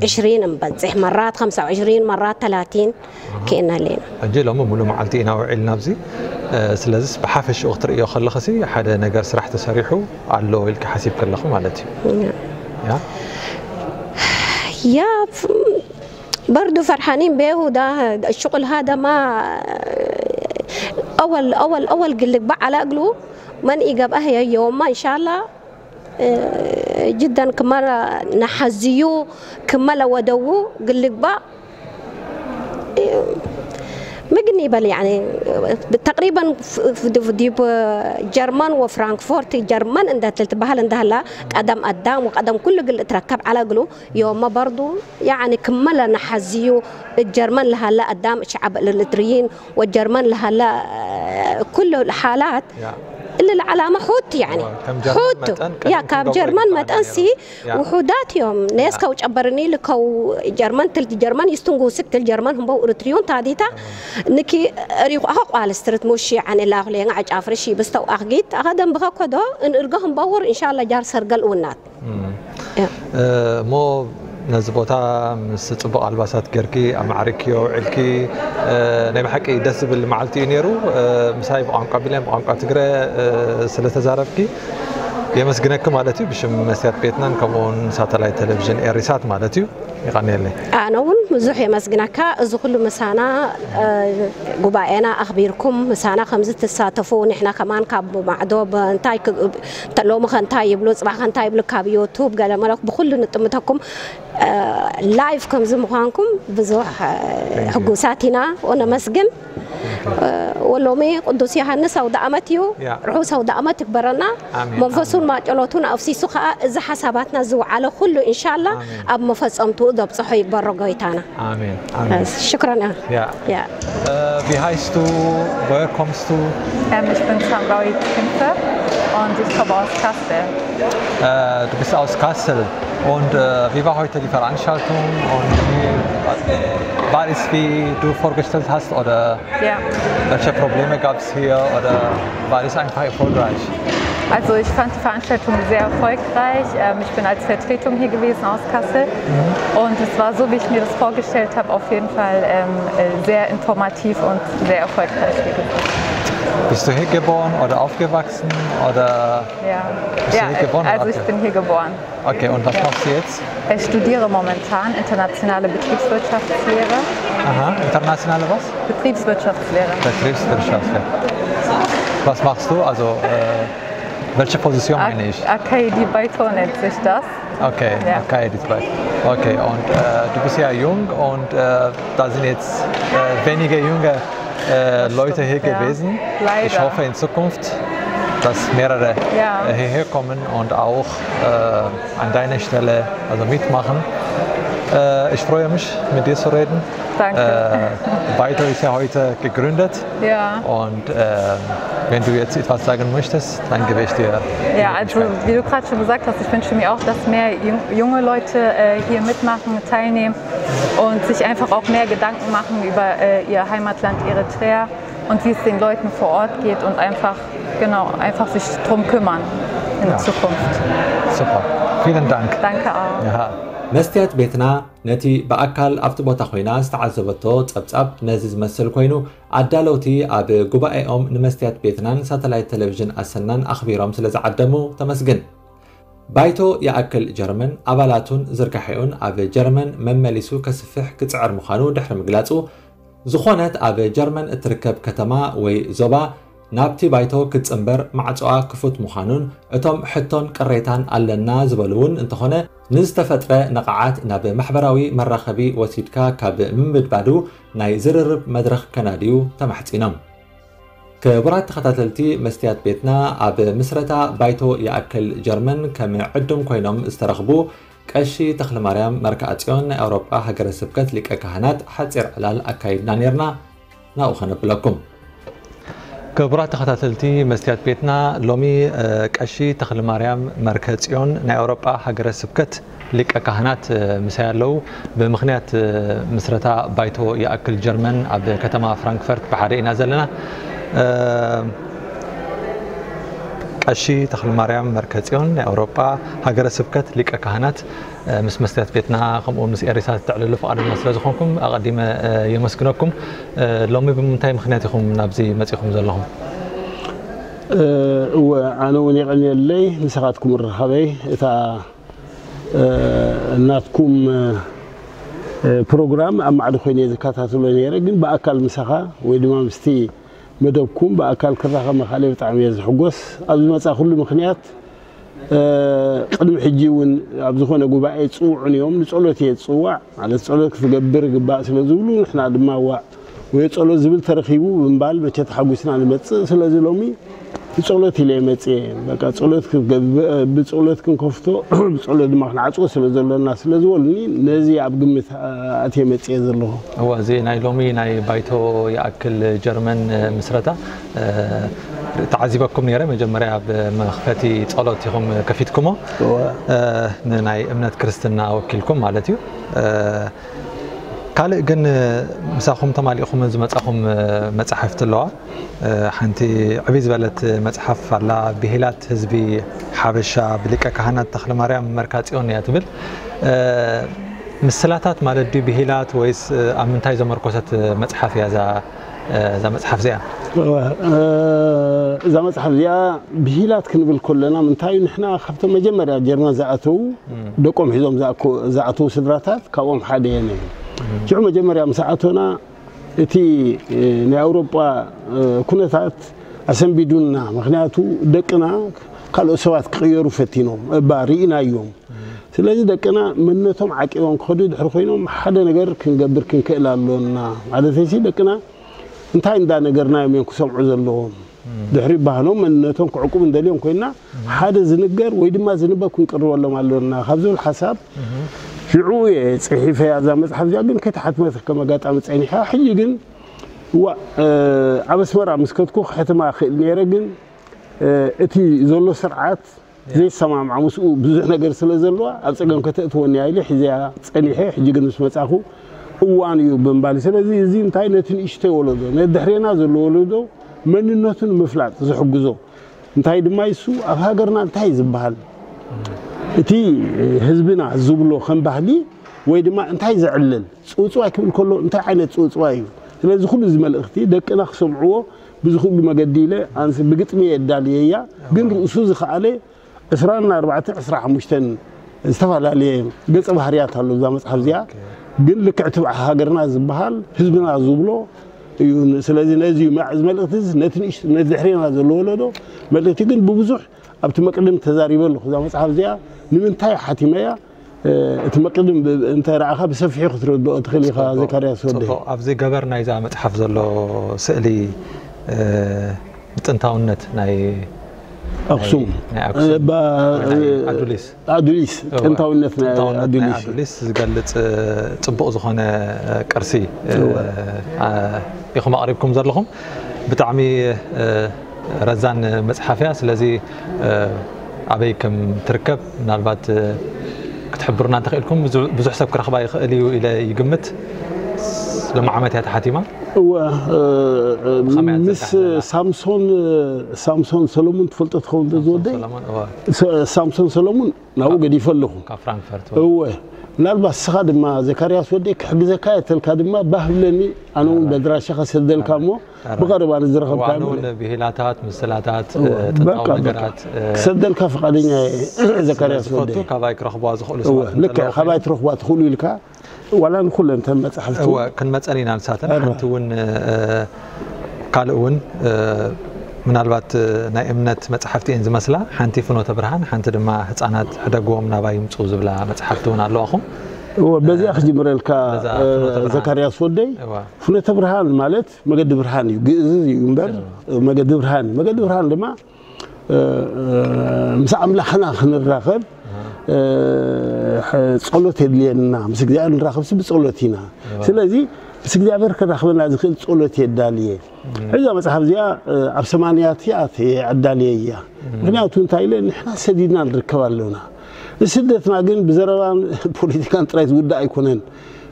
عشرين نبزح مرات خمسة وعشرين مرات ثلاثين كأنها لينا. ሕጂ ሎሚ ሙሉ መዓልቲ ኢና ውዒልና ኣብዚ። ስለዚስ ብሓፈሽኡ ክትርእዮ ከለኽሲ ሓደ ነገር ስራሕ ተሰሪሑ ኣሎ ኢልኪ ሓሲብ ከለኹ ማለት እዩ። ያ يا برضو فرحانين به، وده الشغل هذا ما أول أول أول قلق بقى على أقله من إيجاب أهيا يوم ما إن شاء الله. جدا كمرة نحزيو كملة ودوو قلقبا مقني بل يعني تقريبا في ديب جرمان وفرانكفورت جرمان عندها تلتبهل عندها لا قدم قدام وقدم كل قل تركب على قلو يوم برضو يعني كملة نحزيو الجرمان لها لا قدام شعب الإريتريين والجرمان لها لا كل الحالات اللي العلامة حوت يعني حوت يا كاب جرمان ما تأنسي وحودات يوم ناس كو جبرني لكو جرمان تلت جرمان يستنقو سكت الجرمان هم بو إريتريون تاديتا نكي ريخو أخو قال استرت موشي عن الله لين عج أفرشي بستو أخجيت أخدم بخا كدو إن إرقهم باور إن شاء الله جار سرقل ونات እሞ ነዚ ቦታ ምስ ፅቡቕ ኣልባሳት ጌርኪ ኣማዕሪክዮ ውዒልኪ ናይ ብሓቂ ደስ ዝብል መዓልቲ እዩ ነይሩ። ምሳይ ብቋንቋ ቢልያን ብቋንቋ ትግረ ስለተዛረብኪ የመስግነኪ ማለት እዩ። ብሽም መስትያት ቤትናን ከምኡውን ሳተላይት ቴሌቪዥን ኤሪሳት ማለት እዩ። ይቐንየለይ። ኣነ እውን ብዙሕ የመስግነካ። እዚ ኩሉ ምሳና ጉባኤና ኣኽቢርኩም ምሳና ከምዚ ትሳተፉ ንሕና ከማን ካብ ማዕዶ እንታይ ተሎሚ ከንታይ ይብሉ ጽባሕ ከንታይ ይብሉ ካብ ዩቱብ ገለ መለኩ ብኩሉ ንጥምተኩም ላይፍ ከምዚ ምዃንኩም ብዙሕ ሕጉሳት ኢና ወነመስግን። ወሎሚ ቅዱስ ዮሃንስ ኣውደ ዓመት እዩ። ርሑስ ኣውደ ዓመት ይግበረና። መንፈሱን ማጨሎቱን ኣፍሲሱ ከዓ እዚ ሓሳባትና ዝውዓለ ኩሉ እንሻላ ኣብ መፈጸምትኡ ዘብፅሖ ይግበሮ ጎይታና። ኣሜን ኣሜን። ሽክረን። Wie heißt du? Woher kommst du? Ähm, ich bin Samraoui Künfe und ich komme aus Kassel. Äh, du bist aus Kassel. Und äh, wie war heute die Veranstaltung? Und wie, war es, wie du vorgestellt hast? Oder Ja. Welche Probleme gab es hier oder war es einfach erfolgreich? Also ich fand die Veranstaltung sehr erfolgreich. Ähm, ich bin als Vertretung hier gewesen aus Kassel. Und es war so, wie ich mir das vorgestellt habe, auf jeden Fall ähm, äh, sehr informativ und sehr erfolgreich, wie gesagt. Bist du hier geboren oder aufgewachsen? Oder Ja, Bist du ja hier geboren also oder ich bin hier geboren. Okay, und was machst du jetzt? Ich studiere momentan internationale Betriebswirtschaftslehre. Aha, internationale was? Betriebswirtschaftslehre. Betriebswirtschaft, ja. Was machst du? Also, äh, welche Position meine ich? Akaidi Baito nennt sich das. Okay, Ja. okay, das bleibt. Okay, und äh, du bist ja jung und äh, da sind jetzt äh, wenige junge äh, Leute hier Ja. gewesen. Leider. Ich hoffe in Zukunft, dass mehrere Ja. äh, hierher kommen und auch äh, an deiner Stelle also mitmachen. Äh, ich freue mich, mit dir zu reden. Danke. Äh, Baito ist ja heute gegründet. Ja. Und äh, wenn du jetzt etwas sagen möchtest, dann gebe ich dir. Ja, die also Möglichkeit. Wie du gerade schon gesagt hast, ich wünsche mir auch, dass mehr jung- junge Leute äh, hier mitmachen, teilnehmen und sich einfach auch mehr Gedanken machen über äh, ihr Heimatland Eritrea und wie es den Leuten vor Ort geht und einfach, genau, einfach sich drum kümmern in Ja. Zukunft. Super. Vielen Dank. Danke auch. Ja. መስትያት ቤትና ነቲ ብኣካል ኣብቲ ቦታ ኮይና ዝተዓዘበቶ ጸብጻብ ነዚ ዝመስል ኮይኑ ኣዳለውቲ ኣብ ጉባኤኦም ንመስትያት ቤትናን ሳተላይት ቴሌቪዥን ኣሰናን ኣኽቢሮም ስለ ዝዓደሙ ተመስግን። ባይቶ ይኣክል ጀርመን ኣባላቱን ዝርጋሐኡን ኣብ ጀርመን መመሊሱ ከስፍሕ ክጽዕር ምዃኑ ድሕሪ ምግላጹ ዝኾነት ኣብ ጀርመን እትርከብ ከተማ ወይ ዞባ ናብቲ ባይቶ ክትጽንበር ማዕጾኣ ክፉት ምዃኑን፣ እቶም ሕቶን ቅሬታን ኣለና ዝበሉ እውን እንተኾነ፣ ንዝተፈጥረ ነቓዓት ናብ ማሕበራዊ መራኸቢ ወሲድካ ካብ ምምድባዱ ናይ ዝርርብ መድረኽ ከናድዩ ተማሕጺኖም። ክቡራት ተኸታተልቲ መስትያት ቤትና፣ ኣብ ምስረታ ባይቶ ይኣክል ጀርመን ከም ዕዱም ኮይኖም ዝተረኽቡ ቀሺ ተኽለማርያም መርካዕጽዮን ናይ ኣውሮጳ ሃገረ ስብከት ሊቀ ካህናት ሓጺር ዕላል ኣካይድና ኔርና። ናብኡ ኸነብለኩም። ክቡራት ተኸታተልቲ መስትያት ቤትና፣ ሎሚ ቀሺ ተኽለማርያም መርከጽዮን ናይ ኣውሮጳ ሃገረ ስብከት ሊቀ ካህናት ምሳይ ኣለዉ። ብምኽንያት ምስረታ ባይቶ ይኣክል ጀርመን ኣብ ከተማ ፍራንክፈርት ብሓደ ኢና ዘለና። ቀሺ ተኽለማርያም መርከጽዮን ናይ ኣውሮጳ ሃገረ ስብከት ሊቀ ካህናት፣ ምስ መስትያት ቤትና ከምኡ ምስ ኤሪሳት ተዕልሉ ፍቓደኛ ስለ ዝኾንኩም ኣቐዲመ የመስግነኩም። ሎሚ ብምንታይ ምኽንያት ኢኹም ናብዚ መጺኹም ዘለኹም? እወ፣ ኣነ እውን የቐንየለይ ንስኻትኩም ምርኻበይ። እታ ናትኩም ፕሮግራም ኣብ ማዕዶ ኮይነ ዝከታተሎ ነይረ፣ ግን ብኣካል ምሳኻ ወይ ድማ ምስቲ መደብኩም ብኣካል ክራኸብ ምኻለይ ብጣዕሚ እየ ዝሕጎስ። ኣብ ዝመጻእኩሉ ምኽንያት፣ ቅድሚ ሕጂ እውን ኣብ ዝኾነ ጉባኤ ይጽውዑኒ እዮም፣ ንጸሎት እየ ዝጽዋዕ። ማለት ጸሎት ክትገብር ይግባእ ስለ ዝብሉ፣ ንሕና ድማ ዋእ ወይ ጸሎት ዝብል ተረኺቡ ብምባል መቸ ተሓጒስና ንመጽእ። ስለዚ ሎሚ ብጸሎት ኢለ እየ መጽየ። በቃ ጸሎት ክትገብር፣ ብጸሎት ክንከፍቶ፣ ብጸሎት ድማ ክንዓጽዎ ስለ ዘሎና ስለ ዝበሉኒ፣ ነዚ ኣብ ግምት ኣትየ መጽየ ዘለኹ። እወ፣ እዚ ናይ ሎሚ ናይ ባይቶ ይኣክል ጀርመን ምስረታ ተዓዚበኩም ነይረ። መጀመርያ ብመኽፈቲ ጸሎት ኢኹም ከፊትኩሞ፣ ንናይ እምነት ክርስትና ወኪልኩም ማለት እዩ። ካልእ ግን ምሳኹም ተማሊእኹም ዝመጻኹም መጻሕፍቲ ኣለዋ። ሓንቲ ዕብይ ዝበለት መጽሓፍ ኣላ፣ ብሂላት ህዝቢ ሓበሻ ብሊቀ ካህናት ተኽለማርያም መርካጽዮን እያ ትብል። ምስላታት ማለት ድዩ ብሂላት ወይስ ኣብ ምንታይ ዘመርኮሰት መጽሓፍ እያ እዛ እዛ መጽሓፍ እዚኣ? እዛ መጽሓፍ እዚኣ ብሂላት ክንብል ከለና ምንታይ ንሕና ካብቶም መጀመርያ ጀርመን ዝኣተዉ ደቆም ሒዞም ዝኣተዉ ስድራታት ካብኦም ሓደ እየ ነይረ። ሽዑ መጀመርያ ምስ ኣቶና እቲ ናይ ኣውሮጳ ኩነታት ኣሰንቢዱና። ምክንያቱ ደቅና ካልኦት ሰባት ክቕየሩ ፈቲኖም እባ ርኢናዮም። ስለዚ ደቅና መንነቶም ዓቂቦም ክኸዱ ድሕሪ ኮይኖም ሓደ ነገር ክንገብር ክንክእል ኣሎና። ማለተይሲ ደቅና እንታይ እንዳነገርናዮም እዮም ክሰምዑ ዘለዎም? ድሕሪ ባህሎም መንነቶም ክዕቁብ እንደልዮም ኮይና ሓደ ዝንገር ወይ ድማ ዝንበብ ክንቅርበሎም ኣሎና ካብ ዝብል ሓሳብ ሽዑ እየ ጽሒፈያ እዛ መጽሓፍ እዚኣ። ግን ከይተሓትመት ከም ኣጋጣሚ ጸኒሓ። ሕጂ ግን እዋ ኣብ ኣስመራ ምስ ከድኩ ክሕትማ ክእል ነይረ። ግን እቲ ዘሎ ስርዓት ዘይሰማምዓ ምስኡ ብዙሕ ነገር ስለ ዘለዋ ኣብ ጸገም ከተእትወኒ ኢለ ሒዘያ ጸኒሐ። ሕጂ ግን ምስ መጻኹ እዋን እዩ ብምባል። ስለዚ እዚ እንታይ ነቲ ንእሽተይ ወለዶ፣ ነቲ ድሕሬና ዘሎ ወለዶ መንነቱ ንምፍላጥ ዝሕግዞ እንታይ ድማ ይሱ ኣብ ሃገርና እንታይ ዝበሃል እቲ ህዝብና ዝብሎ ከም ባህሊ ወይ ድማ እንታይ ዘዕልል ጽውጽዋይ ክብል ከሎ እንታይ ዓይነት ጽውጽዋይ እዩ? ስለዚ ኩሉ እዚ መልእኽቲ ደቅና ክሰምዕዎ ብዝኽእሉ መገዲ ኢለ ኣንስ ብግጥሚ የዳልየያ። ግን ርእሱ ዝኸኣለ ዕስራን ኣርባዕተን ዕስራ ሓሙሽተን ዝተፈላለየ ገጸ ባህርያት ኣሎ እዛ መጽሓፍ እዚኣ። ግን ልክዕ ትብዓ ሃገርና ዝበሃል ህዝብና ዝብሎ እዩ። ስለዚ ነዚ እዩ መ- እዚ መልእኽቲ እዚ ነቲ ንእሽ- ነቲ ድሕሬና ዘሎ ወለዶ መልእኽቲ ግን ብብዙሕ ኣብቲ መቅድም ተዛሪበ ኣለኹ። እዛ መጽሓፍ እዚኣ ንምንታይ ሓቲመያ እቲ መቅድም እንተ ረኣኻ ብሰፊሑ ክትረድኦ ትኽእል ኢኻ። ዘካርያስ ወደይ። ኣብዚ ገበር ናይዛ መጽሓፍ ዘሎ ስእሊ ጥንታውነት ናይ ኣክሱም ናይ ኣክሱም ኣዱሊስ ኣዱሊስ ጥንታውነት ናይ ኣዱሊስ ኣዱሊስ ዝገልጽ ጽቡቕ ዝኾነ ቅርሲ ኢኹም ኣቕሪብኩም ዘለኹም። ብጣዕሚ ረዛን መጽሓፍ እያ። ስለዚ ኣበይ ከም ትርከብ ምናልባት ክትሕብሩና እንተኽኢልኩም ብዙሕ ሰብ ክረኽባ ይኽእል እዩ ኢለ ይግምት። ሎም ዓመት እያ ተሓቲማ። እወ ምስ ሳምሶን ሳምሶን ሰለሙን ትፈልጦ ትኸውን ዝወደይ ሳምሶን ሰለሙን ናብኡ ገዲፈ ኣለኹ። ካብ ፍራንክፈርት። እወ፣ ምናልባት ንስኻ ድማ ዘካርያስ ወደይ ክሕግዘካ እየ ተልካ ድማ ባህ ብለኒ። ኣነ እውን በድራሻ ከሰደልካ እሞ ብቐረባ ንዝረኸብካ ኣነ እውን ብሂላታት፣ ምስላታት፣ ጥንታዊ በቃ፣ በቃ። ነገራት ክሰደልካ ፍቓደኛ እየ ዘካርያስ ዝፈቱ ወደይ። ካባይ ክረኽብዋ ዝኽእሉ እወ፣ ሰባት ልክዕ፣ እንተለዉ ካባይ ትረኽባ ትኽእሉ ኢልካ ዋላ ንኩለን እተን መጻሕፍቲ እወ ክንመፀን ኢና ንሳተን። እወ። ሓንቲ እውን እ፣ ካልእ እውን እ፣ ምናልባት እ፣ ናይ እምነት መፅሓፍቲ እየን ዝመስላ። ሓንቲ ፍኖተ ብርሃን፣ ሓንቲ ድማ ህፃናት ሕደግዎም ናባይ ይምፁ ዝብላ መፅሓፍቲ እውን ኣለዋኹም። እወ፣ በዚኣ ክጅምረልካ በዛ እ፣ ፍኖተ ብርሃን። ዘካርያስ ወደይ። እወ። ፍኖተ ብርሃን ማለት መገዲ ብርሃን እዩ፣ ግእዝ እዩ እምበር መገዲ ብርሃን እዩ። መገዲ ብርሃን ድማ እ፣ እ፣ ምስ ኣምላኽና ክንራኸብ እ፣ ጸሎት የድልየና። ምስ እግዚኣብሔር ንራኸብሲ ብጸሎት ኢና። ስለዚ ምስ እግዚኣብሔር ክራኽበና ዝኽእል ጸሎት የዳልየ። እዛ መጽሓፍ እዚኣ እ፣ ኣብ ሰማንያት እያ ኣዳልየ እያ። ምክንያቱ እንታይ ኢለ ንሕና ሰዲድና ንርከብ ኣለና። ንስደትና ግን ብዘረባን ፖለቲካን ጥራይ ዝውዳእ ኣይኮነን።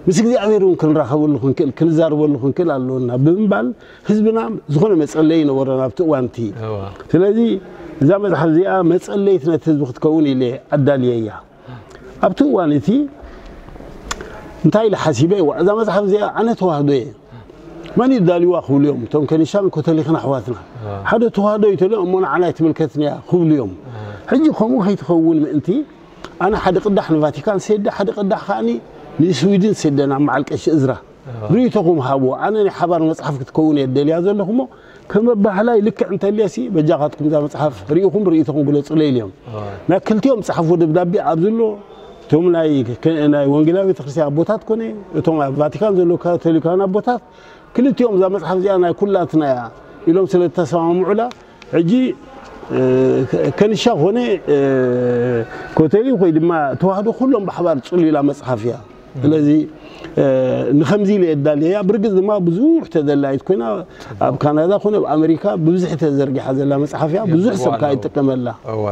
ምስ እግዚኣብሔር እውን ክንራኸበሉ ክንክእል ክንዛረበሉ ክንክእል ኣለና ብምባል ህዝብና ዝኾነ መጸለይ ይነበሮን ኣብቲ እዋን እቲ። እዋ። ስለዚ እዛ መጽሓፍ እዚኣ መጸለይት ነቲ ህዝቢ ክትከውን ኢለ ኣዳልየ እያ። ኣብቲ እዋን እቲ እንታይ ኢለ ሓሲበ፣ "ዋ፣ እዛ መጽሓፍ እዚኣ ኣነ ተዋህዶ እየ፣ መን እዩ ዳልዋ?" ክብሉ እዮም እቶም ከኒሻን ኮተሊኽን ኣሕዋትና። ሓደ ተዋህዶ እዩ ተልዮም እሞ ንዓና ኣይትምልከትን እያ ክብሉ እዮም። ሕጂ ከምኡ ከይትኸውን ምእንቲ ኣነ ሓደ ቅዳሕ ንቫቲካን ሰደ፣ ሓደ ቅዳሕ ከዓኒ ንስዊድን ሰደ ናብ መዓል ቀሺ እዝራ። ርእይቶኹም ሃብዎ። ኣነ ናይ ሓባር መጽሓፍ ክትከውን እየ ደልያ ዘለኹ እሞ ከም ኣባህላይ ልክዕ እንተልየሲ በጃኻትኩም እዛ መጽሓፍ ርኢኹም ርእይቶኹም ግለጹለይ ኢልዮም። ናይ ክልቲኦም ጸሓፍዎ ደብዳቤ ኣብዚ ኣሎ። እቶም ናይ ከ-፣ ናይ ወንጌላዊ ቤተክርስትያን ኣቦታት ኮነ እቶም ኣብ ቫቲካን ዘለዉ ካቶሊካውያን ኣቦታት ክልቲኦም እዛ መጽሓፍ እዚኣ ናይ ኩላትና እያ ኢሎም ስለ ዝተሰማምዑላ ሕጂ እ፣ ከ-፣ ከንሻ ኮነ እ፣ ኮተሊ ወይ ድማ ተዋህዶ ኩሎም ብሓባር ጽሉላ መጽሓፍ እያ። ስለዚ እ፣ ንኸምዚ ኢለ የዳልየያ። ብርግጽ ድማ ብዙሕ ተደላይት ኮይና ኣብ ካናዳ ኮነ ኣብ ኣሜሪካ ብብዝሒ ተዘርጊሓ ዘላ መጽሓፍ እያ። ብዙሕ ሰብ ከዓ ይጥቀመላ። እወ፣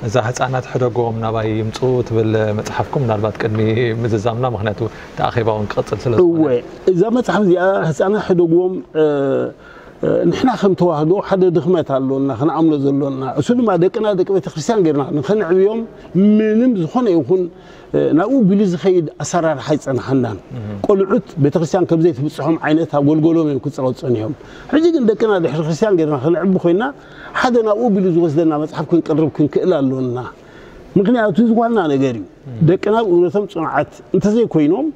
እዛ ህፃናት ሕደጎም ናባይ ይምፁ ትብል መጽሓፍኩም ምናልባት ቅድሚ ምዝዛምና፣ ምክንያቱ እቲ ኣኼባ እውን ክቕጽል ስለ ዝኾነ። እወ፣ እዛ መጽሓፍ እዚኣ ህፃናት ሕደጎም እ፣ እ፣ ንሕና ከም ተዋህዶ ሓደ ድኽመት ኣሎና ክንኣምኖ ዘሎና። እሱ ድማ ደቅና ደቂ ቤተክርስትያን ጌርና ንኸንዕብዮም ምንም ዝኾነ ይኹን እ፣ ናብኡ ቢሉ ዝኸይድ ኣሰራርሓ ኣይጸንሓናን። ቆልዑት ቤተክርስትያን ከም ዘይትብጽሖም ዓይነት ኣገልገሎም እዮም ክጸቐጸኑ እዮም። ሕጂ ግን ደቅና ድሕሪ ክርስትያን ጌርና ክንዕቢ ኮይና ሓደ ናብኡ ቢሉ ዝወስደና መጽሓፍ ክንቅርብ ክንክእል ኣሎና። ምክንያቱ እዚ ዋና ነገር እዩ። ደቅና ብእምነቶም ጽኑዓት እንተዘይኮይኖም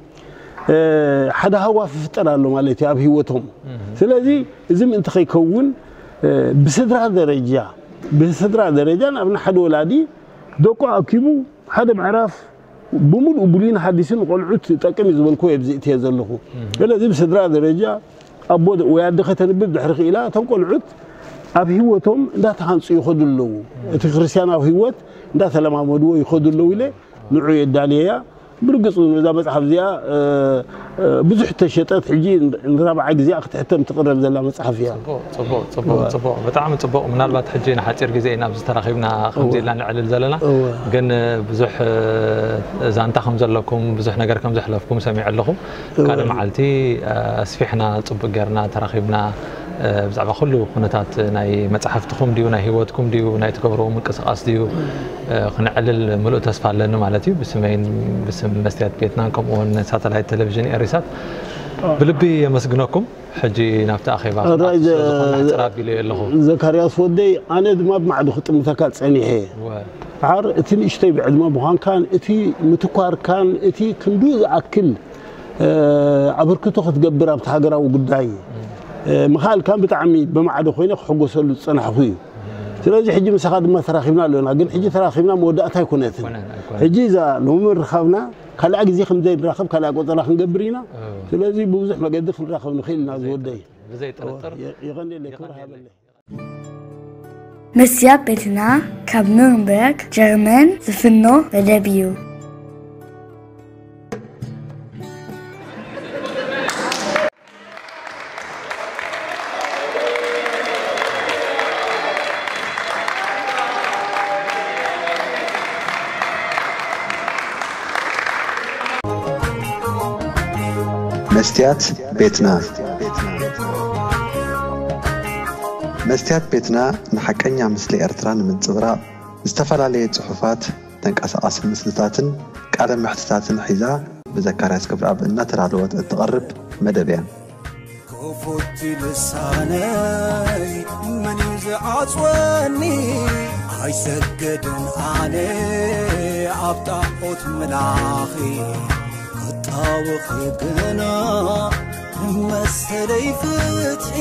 እ፣ ሓደ ሃዋፍ ይፍጠር ኣሎ ማለት እዩ ኣብ ህይወቶም። ስለዚ እዚ ምእንቲ ከይከውን እ፣ ብስድራ ደረጃ ብስድራ ደረጃ ንኣብነት ሓደ ወላዲ ደቁ ኣኪቡ ሓደ ምዕራፍ ብምሉኡ ብሉይን ሓዲስን ቆልዑት ጠቅም እዩ ዝበልኩ ኣብዚ እትየ ዘለኹ። ስለዚ ብስድራ ደረጃ ኣቦ ወይ ኣደ ከተንብብ ድሕሪ ክኢላ እቶም ቆልዑት ኣብ ህይወቶም እንዳተሃንፁ ይኸዱ ኣለዉ። እቲ ክርስትያናዊ ህይወት እንዳተለማመድዎ ይኸዱ ኣለዉ ኢለ ንዑ የዳልየያ። ብርግፅ እውን እዛ መፅሓፍ እዚኣ እ፣ እ፣ ብዙሕ ተሸጠት ሕጂ ንራብዓይ ግዜኣ ክትሕተም ትቕረብ ዘላ መፅሓፍ እያ። ጽቡቕ፣ ጽቡቕ፣ ጽቡቕ፣ ጽቡቕ። ብጣዕሚ ጽቡቕ። ምናልባት ሕጂ ንሓጺር ግዜ ኢና ኣብዚ ተራኺብና ከምዚ ኢልና ነዕልል ዘለና። እወ። ግን ብዙሕ እ፣ ዛንታ ከም ዘለኩም፣ ብዙሕ ነገር ከም ዘሕለፍኩም ሰሚዐ ኣለኹ። ካልእ መዓልቲ እ፣ ኣስፊሕና ጽቡቕ ጌርና ተራኺብና እ፣ ብዛዕባ ኩሉ ኩነታት ናይ መጽሓፍትኹም ድዩ፣ ናይ ህይወትኩም ድዩ፣ ናይ ትገብርዎ ምንቅስቓስ ድዩ እ፣ ክነዕልል ምሉእ ተስፋ ኣለኒ ማለት እዩ። ብስመይን ብስም መስትያት ቤትናን ከምኡ እውን ሳተላይት ቴሌቪዥን ኤሪሳት ብልቢ የመስግነኩም። ሕጂ ናብቲ ኣኼባ ራይ ክኣቱ ስለ ዝኾነ ሕጽር ኣቢለ ኣለኹ። ዘካርያስ ወደይ፣ ኣነ ድማ ብማዕዶ ክጥምተካ ጸኒሐ። እወ። ድሓር እቲ ንእሽተይ ብዕድመ ምዃንካን እቲ ምትኳርካን እቲ ክንዱ ዝኣክል እ፣ ኣበርክቶ ክትገብር ኣብቲ ሃገራዊ ጉዳይ እ፣ ምኽኣልካን ብጣዕሚ ብማዕዶ ኮይነ ክሕጎሰሉ ዝጸናሕኩ እዩ። ስለዚ ሕጂ ምሳኻ ድማ ተራኺብና ኣለና፣ ግን ሕጂ ተራኺብና መወዳእታ ኣይኮነትን። ኣይኮነን፣ ኣይኮነን። ሕጂ እዛ ሎሚ ምርኻብና ካልኣ ግዜ ከም ዘይንራኸብ ካልኣ ቆጸራ ክንገብር ኢና። ስለዚ ብብዙሕ መገዲ ክንራኸብ ንኽእል ኢና ዝወደይ። ብዘይ ጥርጥር የ-፣ የቐንየለይ፣ ክብሪ ሃበለይ። መስትያት ቤትና ካብ ኑርንበርግ ጀርመን ዝፍኖ መደብ እዩ። መስትያት ቤትና። መስትያት ቤትና ንሓቀኛ ምስሊ ኤርትራ ንምንጽብራቕ ዝተፈላለየ ጽሑፋት፣ ተንቀሳቓሲ ምስልታትን ቃለ መሕትታትን ሒዛ ብዘካርያስ ክብረኣብ እናተዳለወት እትቐርብ መደብ እያ። ክፉት ልሳነይ መን እዩ ዝዓጽወኒ? ኣይሰገድን ኣነ ኣብ ጣዖት ምላኺ ክጣወኺ ግና መሰለይ ፍትሒ